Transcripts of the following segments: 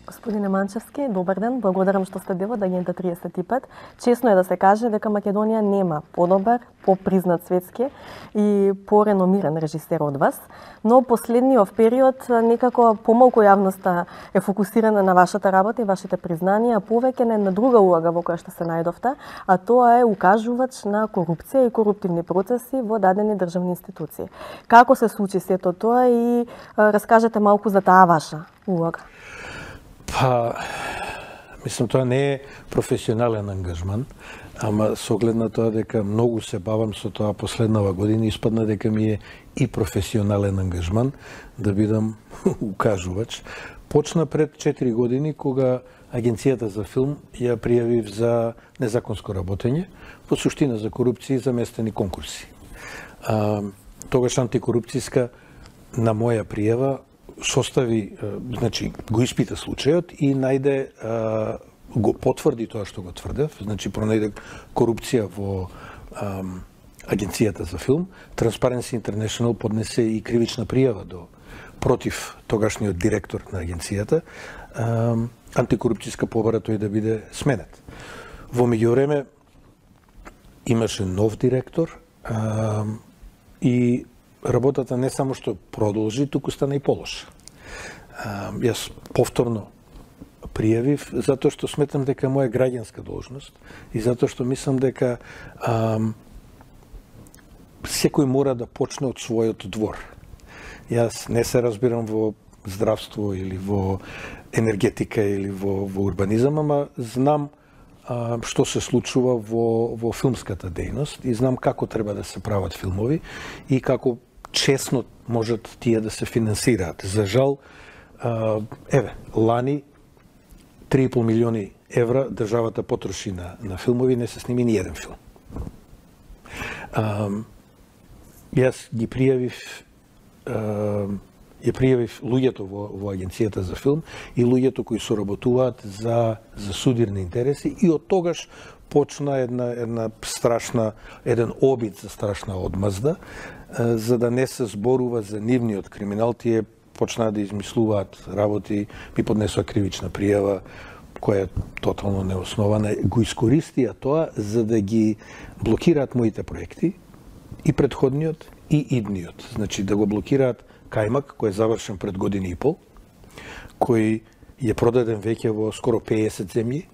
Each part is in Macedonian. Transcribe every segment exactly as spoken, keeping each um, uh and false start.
Господине Манчевски, добар ден. Благодарам што сте дел од Агента триесет и пет. Чесно е да се каже дека Македонија нема подобар, попризнат светски и пореномиран режисер од вас, но последниот период некако помалку јавноста е фокусирана на вашата работа и вашите признанија, а повеќе на една друга улога во која што се најдовте, а тоа е укажувач на корупција и коруптивни процеси во дадени државни институции. Како се случи сето тоа и раскажете малку за таа ваша улога? Па, мислам, тоа не е професионален ангажман, ама со оглед на тоа дека многу се бавам со тоа последнава година, испадна дека ми е и професионален ангажман да бидам укажувач. Почна пред четири години, кога Агенцијата за филм ја пријавив за незаконско работење, по суштина за корупција и заместени конкурси. А, тогаш антикорупцијска на моја пријава состави, значи, го испита случајот и најде, го потврди тоа што го тврдев, значи, пронајде корупција во а, Агенцијата за филм. Transparency International поднесе и кривична пријава до против тогашниот директор на агенцијата, а, антикорупцијска побара тој да биде сменет. Во меѓувреме имаше нов директор а, и работата не само што продолжи, туку стана и полоша. Јас повторно пријавив затоа што сметам дека е моја граѓанска должност и затоа што мислам дека а, секој мора да почне од својот двор. Јас не се разбирам во здравство или во енергетика или во, во урбанизам, ама знам а, што се случува во, во филмската дејност и знам како треба да се прават филмови и како честно можат тие да се финансираат. За жал, а, еве, лани три и пол милиони евра државата потроши на, на филмови, не се сними ни еден филм. А, јас ги пријавив а, ја пријавив луѓето во, во Агенцијата за филм и луѓето кои соработуваат за, за судирни интереси и од тогаш почна една, една страшна, еден обид за страшна одмазда, за да не се зборува за нивниот криминал, тие почнаа да измислуваат работи, ми поднесоа кривична пријава, која е тотално неоснована, го искористија тоа за да ги блокираат моите проекти, и предходниот, и идниот. Значи, да го блокираат Кајмак, кој е завршен пред година и пол, кој е продаден веќе во скоро педесет земји,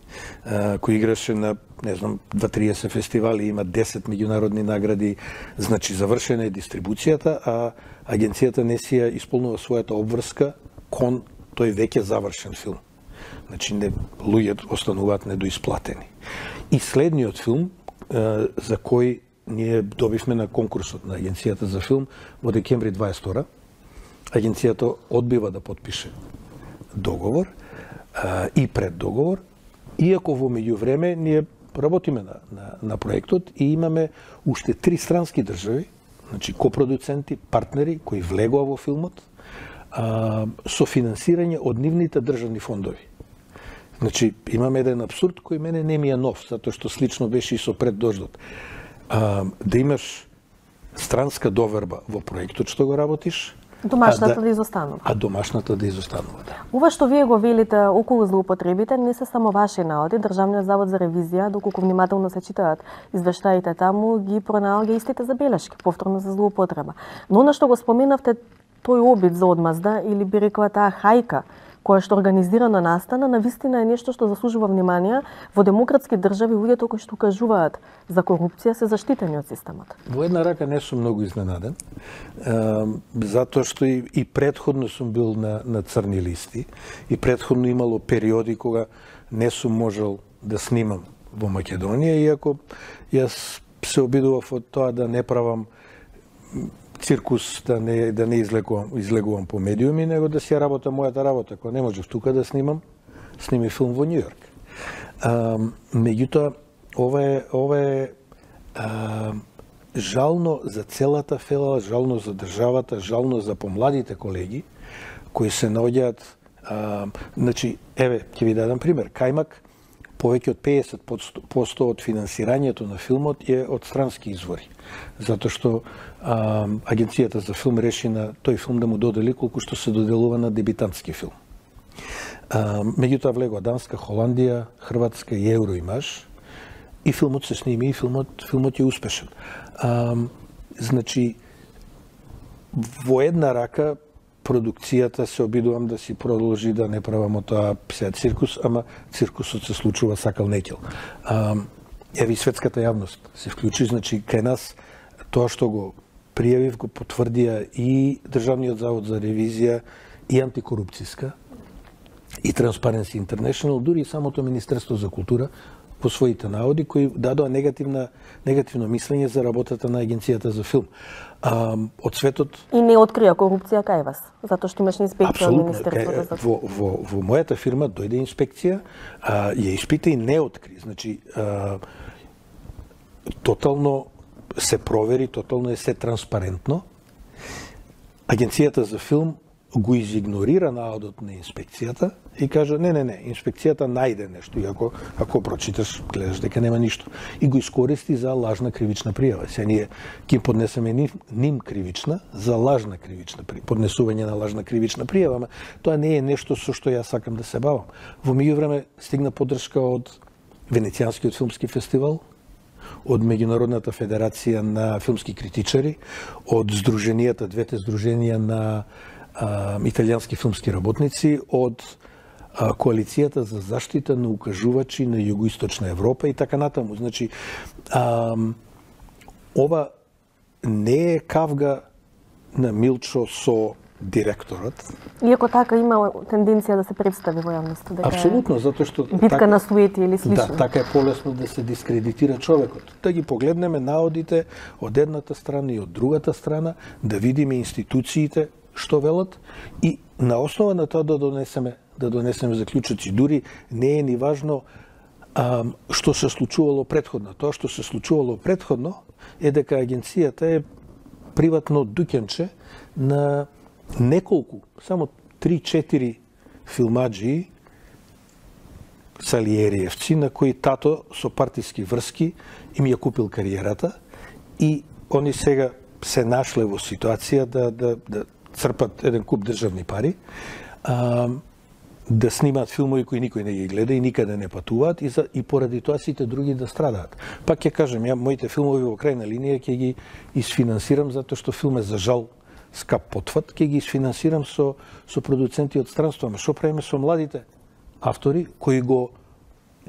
кој играше на, не знам, дваесет фестивали, има десет меѓународни награди, значи завршена е дистрибуцијата, а агенцијата не си ја исполнува својата обврска кон тој веќе завршен филм. Значи, не, луѓето остануваат недоисплатени. И следниот филм, за кој ние добивме на конкурсот на Агенцијата за филм во декември дваесет и втора, агенцијата одбива да потпише договор а, и преддоговор, иако во меѓувреме ние работиме на, на, на проектот и имаме уште три странски држави, значи копродуценти, партнери кои влегоа во филмот, а, со финансирање од нивните државни фондови. Значи, имаме еден абсурд кој мене не ми е нов, затоа што слично беше и со преддождот. А, да имаш странска доверба во проектот што го работиш, Домашната а да, да изостанува. А домашната да изостанува, да. Ова што вие го велите околу злоупотребите не се само ваши наоди. Државниот завод за ревизија, доколку внимателно се читаат извештаите таму, ги пронаоѓа истите забелешки, повторно за злоупотреба. Но она што го споменавте, тој обид за одмазда, или би рекла таа хајка, која што организирано настана, навистина е нешто што заслужува внимание. Во демократски држави луѓето кои што кажуваат за корупција се заштитени од системот. Во една рака не сум многу изненаден, е, затоа што и, и предходно сум бил на, на црни листи и предходно имало периоди кога не сум можел да снимам во Македонија, иако јас се обидував од тоа да не правам циркус, да не, да не излегувам, излегувам по медиуми, него да си ја работа мојата работа. Кога не можев тука да снимам, сними филм во Њу Јорк. А, меѓутоа, ова е, ова е а, жално за целата фела, жално за државата, жално за помладите колеги, кои се наоѓаат, а, значи, еве, ќе ви дадам пример. Кајмак, повеќе од педесет проценти од финансирањето на филмот е од странски извори. Затоа што а, Агенцијата за филм реши на тој филм да му додели колку што се доделува на дебитантски филм. А, меѓутоа влегоа Данска, Холандија, Хрватска и Евроимаж и филмот се сними и филмот филмот е успешен. А, значи во една рака продукцијата се обидувам да си продолжи да не правам тоа сега циркус, ама циркусот се случува сакал некел. А, Еве и светската јавност се вклучи, значи кај нас тоа што го пријавив го потврдија и Државниот завод за ревизија и антикорупцијска и Transparency International, дури и самото Министерство за култура по своите наводи кои дадоа негативна негативно мислење за работата на Агенцијата за филм. А, од светот и не открија корупција кај вас, затоа што имаш инспекција од Министерството за во, во, во мојата фирма дојде инспекција, а, ја испита и не откри. Значи, а, тотално се провери, тотално е се транспарентно. Агенцијата за филм го изигнорира наодот на инспекцијата и кажа не, не, не, инспекцијата најде нешто и ако, ако прочиташ, гледаш дека нема ништо. И го искористи за лажна кривична пријава. Се ние ќе поднесеме ним, ним кривична за лажна кривична пријава, поднесување на лажна кривична пријава, ама тоа не е нешто со што јас сакам да се бавам. Во меѓувреме стигна поддршка од Венецијанскиот филмски фестивал, од Меѓународната федерација на филмски критичари, од здруженијата, двете здруженија на а, италијански филмски работници, од а, коалицијата за заштита на укажувачи на југоисточна Европа и така натаму. Значи, а, ова не е кавга на Милчо со директорот. Иако така има тенденција да се представи во јавноста, дека апсолутно, затоа што битка така, на суети или слично. Да, така е полесно да се дискредитира човекот. Да ги погледнеме наодите од едната страна и од другата страна, да видиме институциите што велат и на основа на тоа да донесеме да донесеме заклучоци. Дури не е ни важно а, што се случувало претходно. Тоа што се случувало претходно е дека агенцијата е приватно дуќенче на неколку, само три-четири филмаджии салиериевци на кои тато со партиски врски им ја купил кариерата и они сега се нашле во ситуација да, да, да црпат еден куп државни пари, а, да снимаат филмови кои никој не ги гледа и никаде не патуваат и, за, и поради тоа сите други да страдаат. Пак ќе кажем, ја моите филмови во крајна линија ќе ги isfinansирам затоа што филм е за жал скап потфат, ќе ги isfinansирам со со продуценти од странство. Ама што правиме со младите автори кои го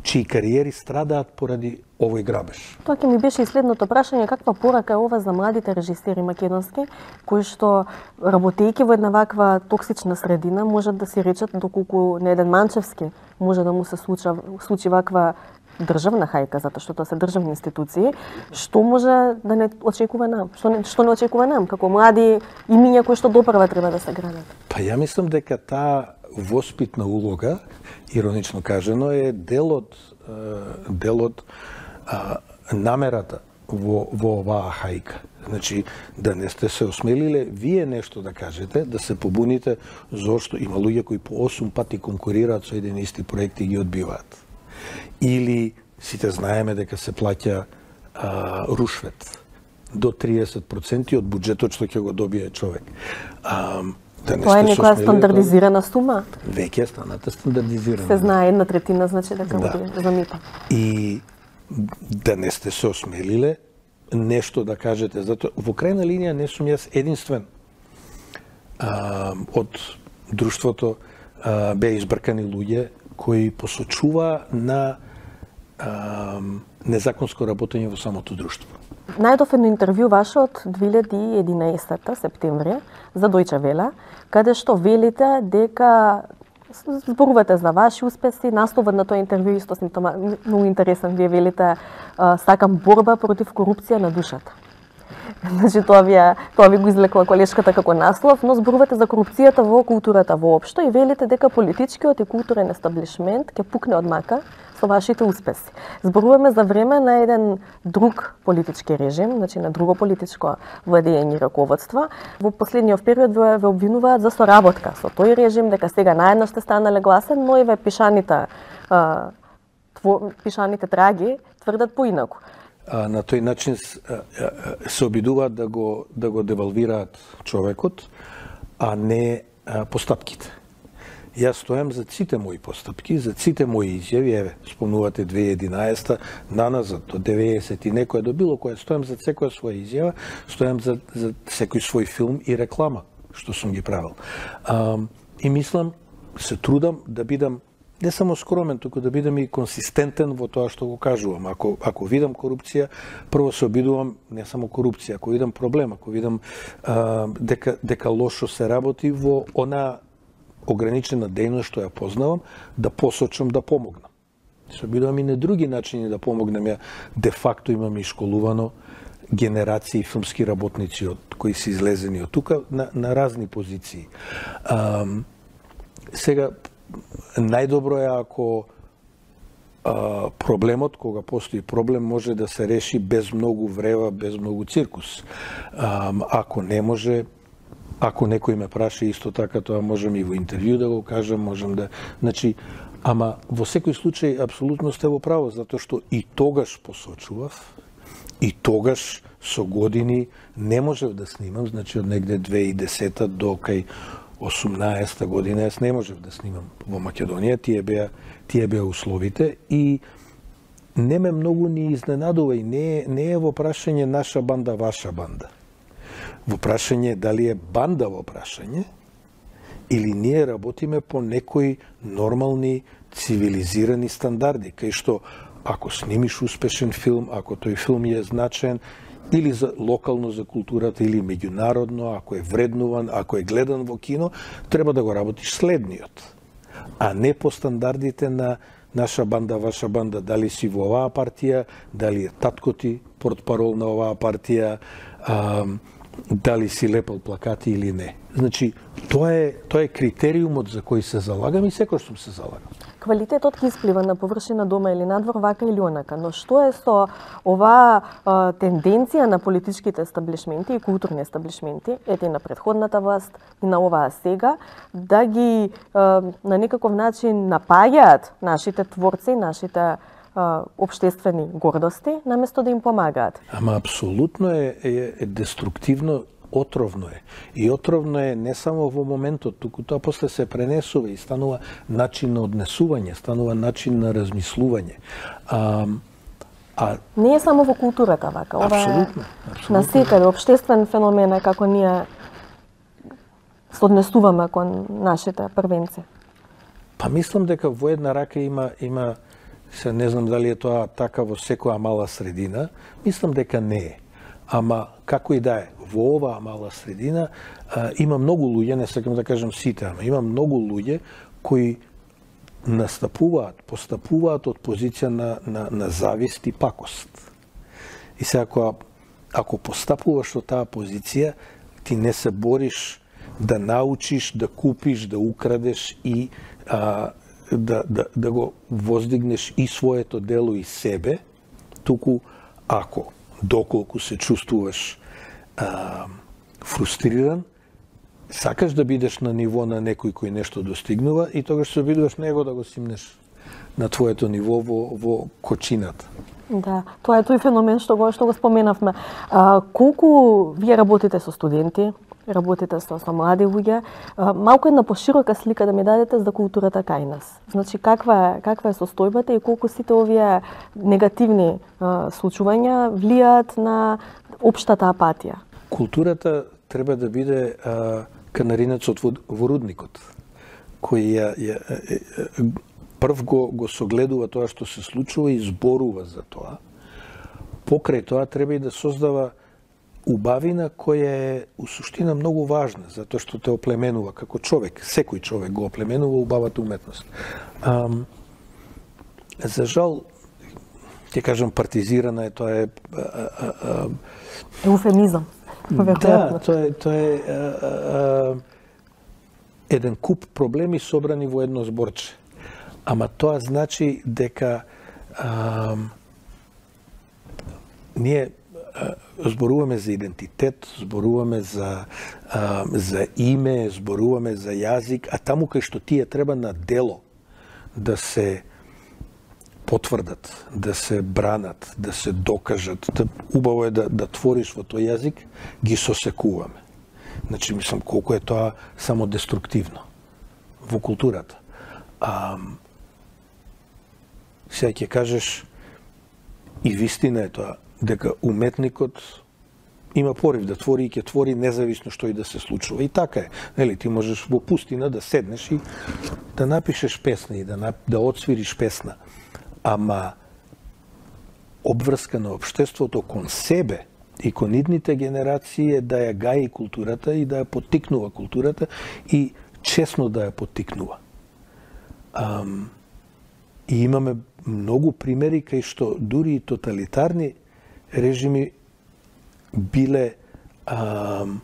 чии кариери страдаат поради овој грабеж? Тоа ќе ми беше и следното прашање, каква порака е ова за младите режисери македонски кои што работејќи во една ваква токсична средина можат да си речат доколку на еден Манчевски може да му се случи, случи ваква државна хајка, затоа што тоа се државни институции, што може да не очекува нам? Што не, што не очекува нам, како млади имиња кои што допрва треба да се градат? Па ја мислам дека таа воспитна улога, иронично кажано, е дел од, дел од а, намерата во, во оваа хајка. Значи, да не сте се осмелиле вие нешто да кажете, да се побуните зошто има луѓе кои по осум пати конкурираат со еден исти проект и ги одбиваат. Или сите знаеме дека се плаќа а, рушвет до триесет проценти од буџетот што ќе го добие човек. А, да тоа е некоја стандардизирана сума? Веќе е станата стандардизирана. Се знае една третина, значи дека да. го замита. И да не сте се осмелиле нешто да кажете, затоа во крајна линија не сум јас единствен. А, од друштвото а, беа избркани луѓе кои посочува на а, незаконско работење во самото друштво. Најдов едно интервју ваше од две илјади и единаесетта септември за Дојче Веле, каде што велите дека зборувате за ваши успеси, насловот на тоа интервју исто многу интересен, вие велите сакам борба против корупција на душата. Значи тоа ви, тоа ви го излекла колешката како наслов, но зборувате за корупцијата во културата воопшто и велите дека политичкиот и културен естаблишмент ќе пукне од мака со вашите успеси. Зборуваме за време на еден друг политички режим, значи на друго политичко владење и раководство. Во последниот период ве, ве обвинуваат за соработка со тој режим, дека сега наеднаш сте станале гласен, но и ве пишаните, а, тво, пишаните траги тврдат поинаку. А, на тој начин се обидуваат да го да го девалвираат човекот, а не а, постапките. Јас стојам за сите мои постапки, за сите мои изјави, еве, спомнувате две илјади и единаесета, наназад до деветдесет и некоја до било која, стојам за секоја своја изјава, стојам за, за секој свој филм и реклама, што сум ги правил. А, и мислам, се трудам да бидам не само скромен, туку да бидам и консистентен во тоа што го кажувам. Ако, ако видам корупција, прво се обидувам не само корупција, ако видам проблем, ако видам а, дека, дека лошо се работи во она ограничена дејност што ја познавам, да посочам да помогнам. Се обидувам и на други начини да помогнам. Ја де факто имам и школувано генерации филмски работници од кои се излезени од тука на, на разни позиции. А, сега, најдобро е ако а, проблемот, кога постои проблем, може да се реши без многу врева, без многу циркус. А, ако не може, ако некој ме праша исто така, тоа можем и во интервју да го кажам, можем да... Значи, ама во секој случај апсолутно сте во право, затоа што и тогаш посочував, и тогаш со години не можев да снимам, значи од негде две илјади и десета до кај осумнаесета година јас не можев да снимам во Македонија, тие беа тие беа условите и не ме многу ни изненадува и не е, не е во прашање наша банда, ваша банда. Во прашање дали е банда во прашање или ние работиме по некои нормални цивилизирани стандарди, кај што ако снимиш успешен филм, ако тој филм е значен, или за локално за културата, или меѓународно, ако е вреднуван, ако е гледан во кино, треба да го работиш следниот. А не по стандардите на наша банда, ваша банда, дали си во оваа партија, дали е татко ти портпарол на оваа партија, а, дали си лепал плакати или не. Значи, тоа е, тоа е критериумот за кој се залагам и секој сум се залагам. Квалитетот ќе исплива на површина дома или надвор вака или онака, но што е со оваа а, тенденција на политичките естаблишменти и културни естаблишменти, ете на претходната власт и на оваа сега, да ги а, на некаков начин напаѓаат нашите творци, нашите а, обштествени гордости, наместо да им помагаат? Ама апсолутно е, е, е деструктивно, отровно е. И отровно е не само во моментот, туку тоа после се пренесува и станува начин на однесување, станува начин на размислување. А, а... Не е само во културата вака, ова апсолутно, е на секаде обштествен феномен е како ние се однесуваме кон нашите првенци. Па мислам дека во една рака има има се не знам дали е тоа така во секоја мала средина, мислам дека не е. Ама како и да е, во оваа мала средина а, има многу луѓе, не сакам да кажам сите, ама има многу луѓе кои настапуваат, постапуваат од позиција на, на, на завист и пакост. И сега ако, ако постапуваш од таа позиција, ти не се бориш да научиш, да купиш, да украдеш и а, да, да, да го воздигнеш и своето дело и себе, туку ако доколку се чувствуваш а, фрустриран, сакаш да бидеш на ниво на некој кој нешто достигнува и тогаш се обидуваш него да го симнеш на твоето ниво во, во кочината. Да, тоа е тој феномен што го што го споменавме. А, колку вие работите со студенти, работите со, со млади луѓе, а, малку една поширока слика да ми дадете за културата кај нас. Значи каква е каква е состојбата и колку сите овие негативни а, случувања влијаат на општата апатија? Културата треба да биде а, канаринецот во, во рудникот, кој ја, ја, ја, прв го, го согледува тоа што се случува и зборува за тоа. Покрај тоа треба и да создава убавина која е у суштина многу важна, затоа што те оплеменува како човек, секој човек го оплеменува убавата уметност. А, за жал, ќе кажам партизирана е, тоа е... А, а, а, Еуфемизам. Да, тоа е, тоа е а, а, еден куп проблеми собрани во едно зборче. Ама тоа значи дека а, ние а, зборуваме за идентитет, зборуваме за, а, за име, зборуваме за јазик, а таму кај што тие треба на дело да се потврдат, да се бранат, да се докажат. Убаво е да, да твориш во тој јазик, ги сосекуваме. Значи, мислам, колку е тоа само деструктивно во културата. А, сега ќе кажеш, и вистина е тоа, дека уметникот има порив да твори и ќе твори независно што и да се случува. И така е. Нели, ти можеш во пустина да седнеш и да напишеш песна и да, да отсвириш песна. Ама обврска на општеството кон себе и кон идните генерации е да ја гаи културата и да ја поттикнува културата и честно да ја поттикнува. Ам, и имаме многу примери кај што дури и тоталитарни режими биле ам,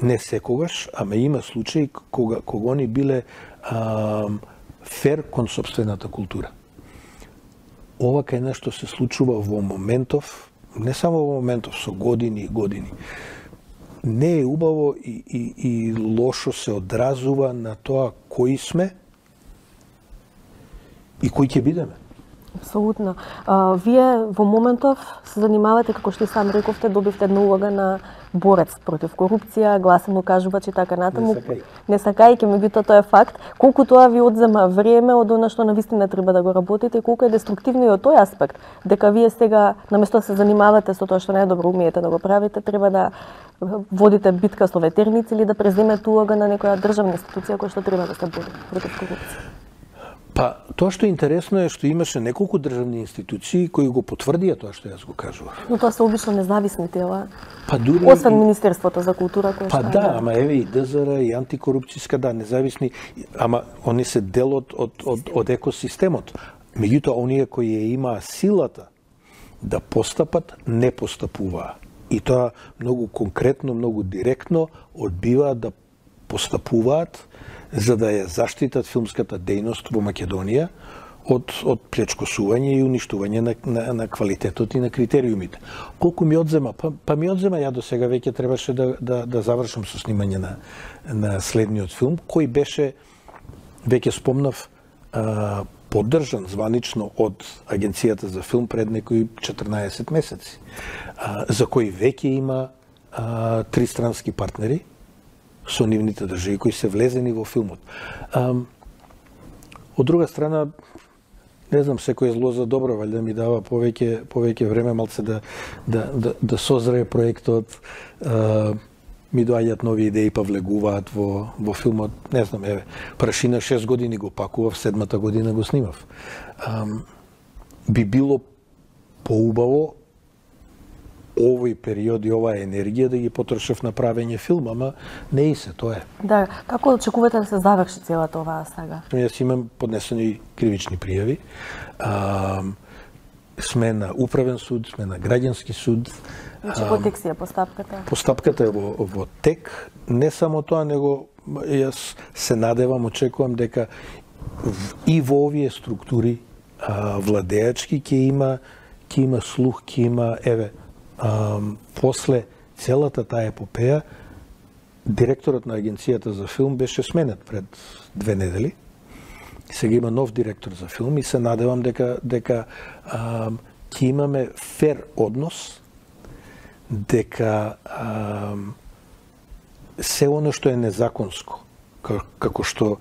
не секогаш, ама има случаи кога, кога они биле ам, фер кон собствената култура. Ова кај нешто се случува во моментов, не само во моментов, со години и години. Не е убаво и, и, и лошо се одразува на тоа кои сме и кои ќе бидеме. Апсолутно. А, вие во моментов се занимавате, како што и сам рековте, добивте една улога на борец против корупција, гласен укажувач и така натаму. Не сакај. Не сакајќи, меѓутоа тоа е факт. Колку тоа ви одзема време од она што навистина треба да го работите и колку е деструктивно и од тој аспект, дека вие сега наместо да се занимавате со тоа што најдобро умеете да го правите, треба да водите битка со ветерници или да преземете улога на некоја државна институција која што треба да се бори против корупција. Па, тоа што е интересно е што имаше неколку државни институции кои го потврдија тоа што јас го кажував. Но тоа се обично независни тела. Па дури освен Министерството за култура кој Па што да, ама еве и ДЗР и антикорупцијска, да, независни, ама они се дел од од од, од екосистемот. Меѓутоа оние кои ја имаа силата да постапат, не постапуваа. И тоа многу конкретно, многу директно одбиваат да постапуваат за да ја заштитат филмската дејност во Македонија од, од плечкосување и уништување на, на, на квалитетот и на критериумите. Колку ми одзема? Па, па ми одзема, ја до сега веќе требаше да, да, да завршам со снимање на, на следниот филм, кој беше, веќе спомнав, а, поддржан званично од Агенцијата за филм пред некои четрнаесет месеци, а, за кој веќе има а, тристрански партнери со нивните држави кои се влезени во филмот. А, од друга страна, не знам, секој е зло за добро, валјда ми дава повеќе повеќе време малце да да да, да созрее проектот, а, ми доаѓаат нови идеи па влегуваат во во филмот. Не знам, еве, Прашина шест години го пакував, седмата година го снимав. А, би било поубаво овој период и оваа енергија да ги потрошев на правење филм, ама не и се, тоа е. Да, како очекувате да се заврши целата оваа сага? Јас имам поднесени кривични пријави. А, сме на управен суд, сме на граѓански суд. Значи, во тек си е постапката? Постапката е во, во тек. Не само тоа, него јас се надевам, очекувам дека и во овие структури а, владеачки ќе има, ќе има слух, ќе има, еве, Um, после целата таа епопеја, директорот на Агенцијата за филм беше сменет пред две недели. Сега има нов директор за филм и се надевам дека дека um, ќе имаме фер однос, дека um, се оно што е незаконско, како што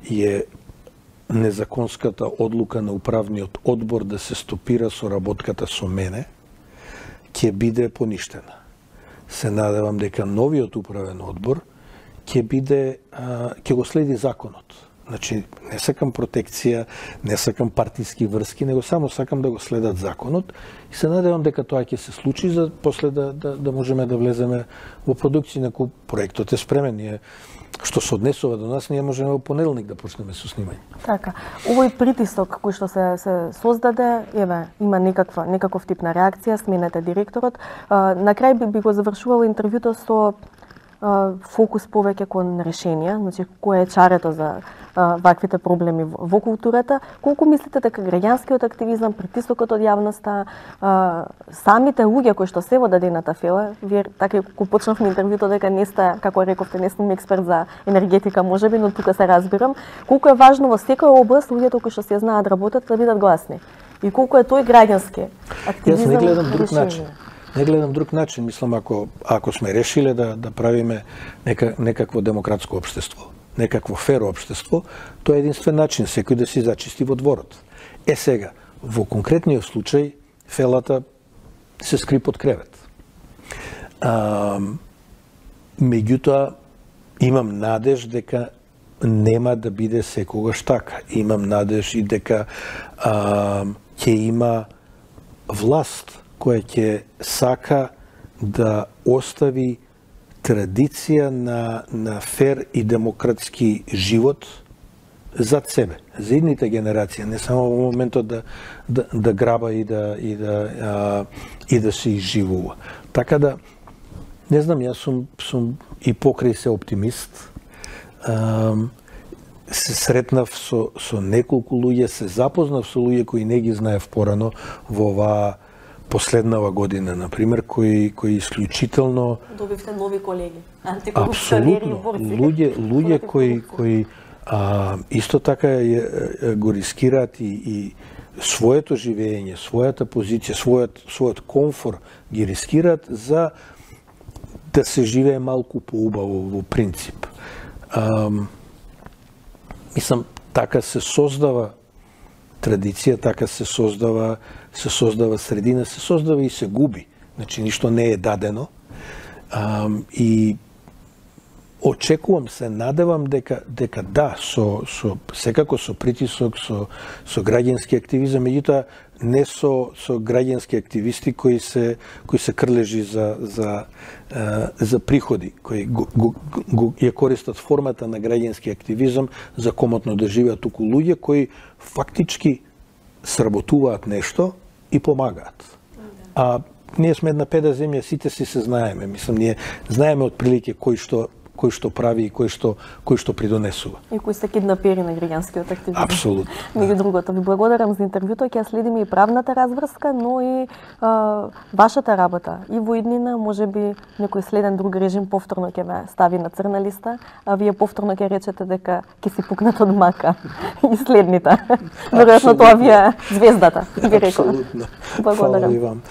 е незаконската одлука на управниот одбор да се стопира соработката со мене, ќе биде поништена. Се надевам дека новиот управен одбор ќе биде, а, ќе го следи законот. Значи, не сакам протекција, не сакам партиски врски, него само сакам да го следат законот и се надевам дека тоа ќе се случи за после да, да, да можеме да влеземе во продукција, неко проектот е спремен. Ние, што се однесува до нас, ние можеме во понеделник да почнеме со снимање. Така, овој притисок кој што се се создаде, еве, има некаква некаков тип на реакција, сменете директорот. А, на крај би, би го завршувала интервјуто со а, фокус повеќе кон решенија, значи кој е чарето за а, ваквите проблеми во, во културата. Колку мислите дека граѓанскиот активизам, притисокот од јавноста, а, самите луѓе кои што се во дадената фела, вие така кога почнавме интервјуто дека не сте, како рековте, не сум експерт за енергетика можеби, но тука се разбирам, колку е важно во секоја област луѓето кои што се знаат да работат да бидат гласни. И колку е тој граѓански активизам. Јас не гледам друг начин. Не гледам друг начин, мислам, ако ако сме решиле да да правиме нека, некакво демократско општество, некакво фер општество, тоа е единствен начин секој да си зачисти во дворот. Е сега, во конкретниот случај, фелата се скри под кревет. А, меѓутоа, имам надеж дека нема да биде секогаш така. Имам надеж и дека а, ќе има власт која ќе сака да остави традиција на, на фер и демократски живот зад себе, за идните генерации, не само во моментот да, да, да граба и да, и да, а, и да се изживува. Така да, не знам, јас сум, сум и покрај се оптимист. А, се сретнав со, со неколку луѓе, се запознав со луѓе кои не ги знаев порано во оваа последнава година, например, кои кои исклучително добивте нови колеги, антикорупционери и борци. Луѓе, луѓе кои кои а, исто така е, е, го рискираат и, и своето живење, својата позиција, својот својот комфор ги рискираат за да се живее малку поубаво во принцип. А, мислам, така се создава традиција, така се создава се создава средина, се создава и се губи. Значи, ништо не е дадено. А, и очекувам, се надевам дека дека да, со со секако со притисок, со со граѓански активизам, меѓутоа не со со граѓански активисти кои се кои се крлежи за за е, за приходи, кои го, го, го ја користат формата на граѓански активизам за комотно да живеат, туку луѓе кои фактички сработуваат нешто и помагаат. А ние сме една педа земја, сите си се знаеме. Мислам, ние знаеме отприлике кој што кој што прави и кој што кој што придонесува. И кои се киднапери на граѓанскиот активизам. Апсолутно. Меѓу другото, ви благодарам за интервјуто, ќе следиме и правната разврска, но и а, вашата работа и во иднина, можеби некој следен друг режим повторно ќе ве стави на црна листа, а вие повторно ќе речете дека ќе си пукнат од мака и следните. Веројатно тоа ви е звездата, би рекол. Апсолутно. Благодарам. Фала и вам.